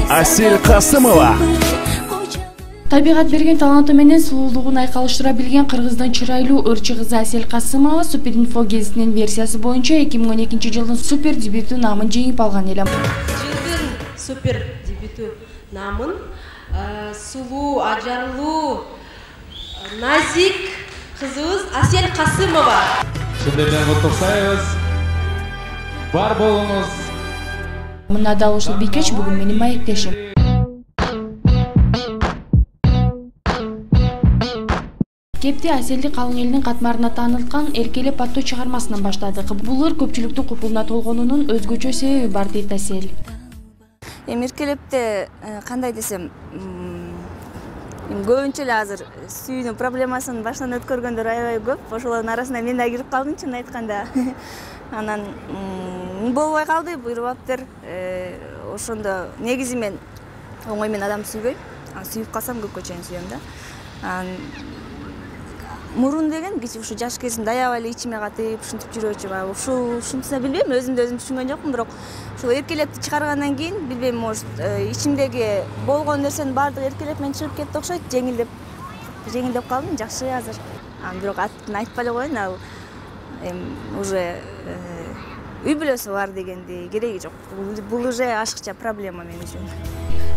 Асель Касымова. Табигат берген таланты менен сулуулугун айкалыштыра билген кыргыздын чырайлуу ырчы кызы Асель Касымова Суперинфо гезитинин версиясы боюнча 2012 жылдын супер дебюту намын жеңип алган эле. Жылдын супер дебюту намын сулуу, ажарлуу, назик кызыбыз Асель Касымова. Шындайдан куттуктайбыз. Бар болуңуз. Мына дал ушул бийкеч бүгүн менин маектешим. Кепти Аселди калың элдин катмарына таанылткан Эркелеп аттуу чыгармасынан баштадык. Бул ыр көпчүлүктүн купулуна толгонунун өзгөчө себеби бар дейт Асель. Эркелепте кандай десем, көбүнчө эле азыр сүйүүнүн проблемасын башынан өткөргөндөр аябай көп. Ошолордун арасына мен да кирип калдым, чын айтканда. Анан болбой калды, буйрубаптыр. Ошондо негизи мен оңой менен адам сүйбөйм. Сүйүп калсам көпкө чейин сүйөм да. Мурун деген ушу жаш кезимде аябай эле ичиме катып, ушинтип жүрөчүм. Ушунтса билбейм, өзүмдү өзүм түшүнгөн жокмун, бирок ушул эркелепти чыгаргандан кийин билбейм, может, ичимдеги болгон нерсенин баардыгы эркелеп менен чыгып кетти окшойт, жеңилдеп калдым, жакшы азыр. Бирок атын айтпай эле коеюн, ал уже үй бүлөсү бар дегенди кереги жок. Бул уже ашыкча проблема мен үчүн.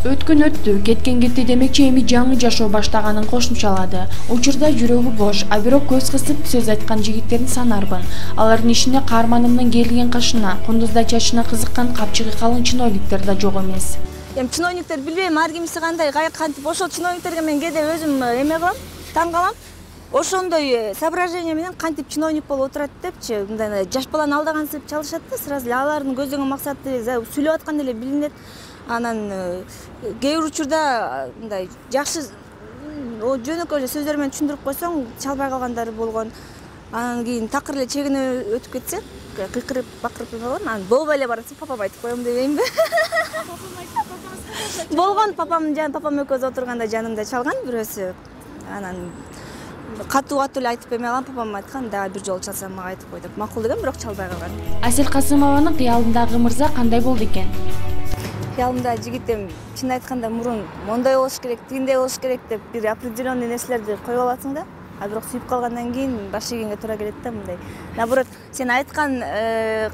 Өткөн өттү, кеткен кетти демекчи эми жаңы жашоо баштаганын кошумчалады. Учурда жүрөгү бош, а бирок көз кысып сөз айткан жигиттердин санарбын. Алардын ичинде каарманымдын келген кашына, кундуздай чачына кызыккан капчыгы калың чиновниктер да жок эмес. Чиновниктер билбейм, ар кимиси кандай, кантип ошол чиновниктерге мен кээде өзүм эме кылам, таң калам. Ошондой соображение менен кантип чиновник болуп отурат депчи, мындай жаш баланы алдагансып чалышат да, сразу эле алардын көздөгөн максаты сүйлөп атканда эле билинет. Анан кээ бир учурда мындай жакшы жөнөкөй эле сөздөр менен түшүндүрүп койсоң, чалбай калгандары болгон. Анан кийин такыр эле чегине өтүп кетсе, кыйкырып, бакырып эме болгон. Анан болбой эле баратса, папам айтып коем дебеймби? Болгон папам экөөбүз отурганда жанымда чалган бирөөсү. Анан катуу эле айтып эме алган, папам айткан, дагы бир жолу чалсам мага айтып кой деп макул деген, бирок чалбай калган. Асель Касымованын кыялындагы мырза кандай болду экен? Кыялымда жигитим чын айтканда мурун мондай болуш керек, тигиндей болуш керек деп бир определенный нерселерди коюп аласың да. А бирок сүйүп калгандан кийин баш ийгенге туура келет да, мындай. Наоборот, сен айткан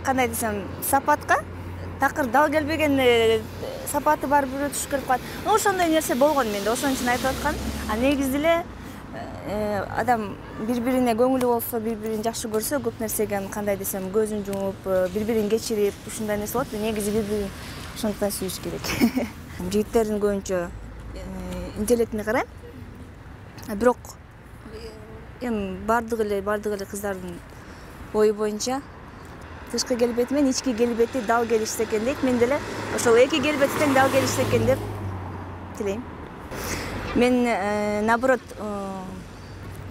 кандай десем, сапатка такыр дал келбеген сапаты бар бирөө түшүп келип калат. Ошондой нерсе болгон менде, ошон үчүн айтып аткан. А негизи эле адам бири-бирине көңүлү болсо, бири-бирин жакшы көрсө, көп нерсеге кандай десем, көзүн жумуп, бири-бирин кечирип, ушундай нерсе болот. Негизи бири-бирин ошондон сүйүш керек. Жигиттердин көбүнчө интеллектине карайм. Бирок бардыгы эле кыздардын ою боюнча тышкы келбети менен ички келбети дал келишсе экен дейт. Мен деле ошол эки келбети тең дал келишсе экен деп тилейм. Мен наоборот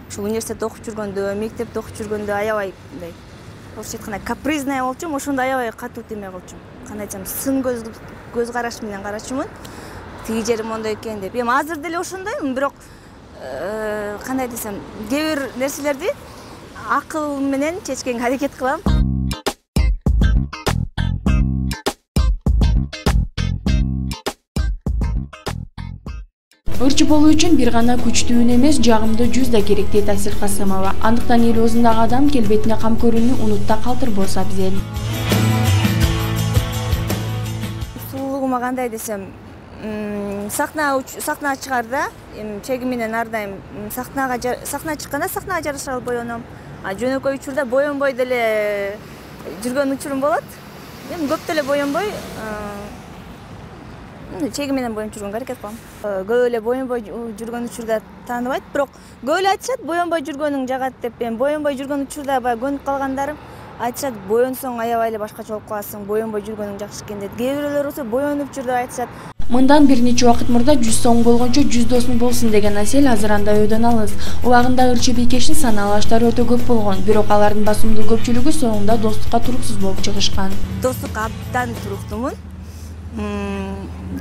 ушул университетте окуп жүргөндө, мектепте окуп жүргөндө аябай мындай орусча айтканда капризная болчумун, ошондо аябай катуу теме кылчумун. Кандай айтсам, сын көз караш менен карачумун. Тиги жери мондой экен деп. Эми азыр деле ошондоймун, бирок кандай десем, кээ бир нерселерди акыл менен чечкенге аракет кылам. Ырчы болуу үчүн бир гана күчтүүн эмес, жагымдуу жүз да керек дейт Асель Касымова. Андыктан эл оозундагы адам келбетине кам көрүүнү унутта калтырбосо абзел. Сулуулугума кандай десем, сахнага чыгарда, чеги менен ар дайым сахнага чыкканда сахнага жараша боёном. А жөнөкөй учурда боёнбой деле жүргөн учурум болот. Эми көп деле боёнбой, чеги менен боюнуп жүргөнгө аракет кылам. Көп эле боюнбой жүргөн учурда тааныбайт, бирок көп эле айтышат боюнбой жүргөнүң жагат деп. Эми боюнбой жүргөн учурда баягы көнүп калгандарым айтышат, боюнсоң аябай эле башкача болуп каласың, боюнбой жүргөнүң жакшы экен дейт. Кээ бирөөлөр болсо боюнуп жүр деп айтышат. Мындан бир нече убакыт мурда 100 сом болгончо 100 досуң болсун деген Асель азыр андай ойдон алыс. Убагында ырчы бийкештин санаалуу аштары өтө көп болгон, бирок алардын басымдуу көпчүлүгү соңунда достукка туруксуз болуп чыгышкан. Достукка абдан туруктумун.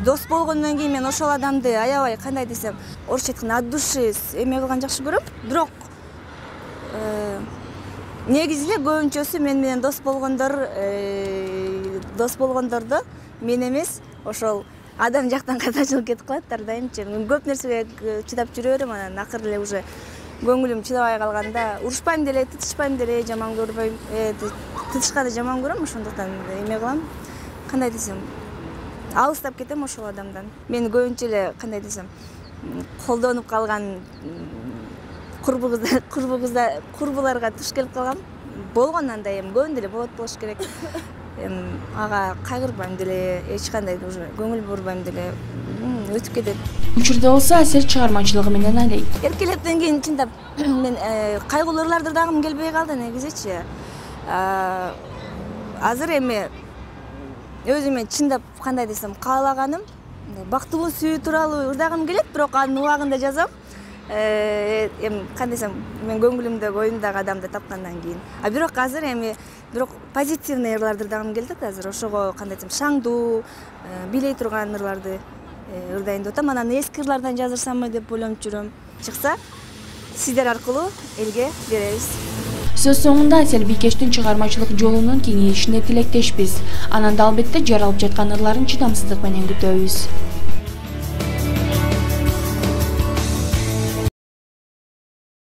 Дос болгондон кийин мен ошол адамды аябай кандай десем, орусча айтканда от души эме кылган жакшы көрөм. Бирок негизи эле көбүнчөсү мен менен дос болгондордо мен эмес, ошол адам жактан катачылып кетип калат ар дайымчы. Мен көп нерсеге чыдап жүрө берем, анан акыры эле уже көңүлүм чыдабай калганда урушпайм деле, тытышпайм деле, жаман көрбөйм. Тытышканды жаман көрөм, ошондуктан эме кылам. Кандай десем, алыстап кетем ошол адамдан. Мен көбүнчө эле кандай десем, колдонуп калган курбуларга туш келип калгам. Болгон андай эми көбүндө эле болот болуш керек. Ага кайгырбайм деле, эч кандай уже көңүл бурбайм деле, өтүп кетет. Учурда болсо Асел чыгармачылыгы менен алек. Эркелептен кийин чындап мен кайгылуу ырларды дагым келбей калды негизичи. Азыр эми өзүмө чындап кандай десем, каалаганым бактылуу сүйүү тууралуу ырдагым келет, бирок анын убагында жазам. Эми кандай десем, мен көңүлүмдөгү оюмдагы адамды тапкандан кийин. Бирок азыр эми позитивный ырларды ырдагым келет азыр. Ошого кандай десем, шаңдуу, билей турган ырларды ырдайын деп атам. Анан эски ырлардан жазырсамбы деп ойлонуп жүрөм. Чыкса, сиздер аркылуу элге беребиз. Сөз соңунда Асел Бийкештин чыгармачылык жолунун кеңейишине тилектешпиз. Анан да албетте жаралып жаткан ырларын чыдамсыздык менен күтөбүз.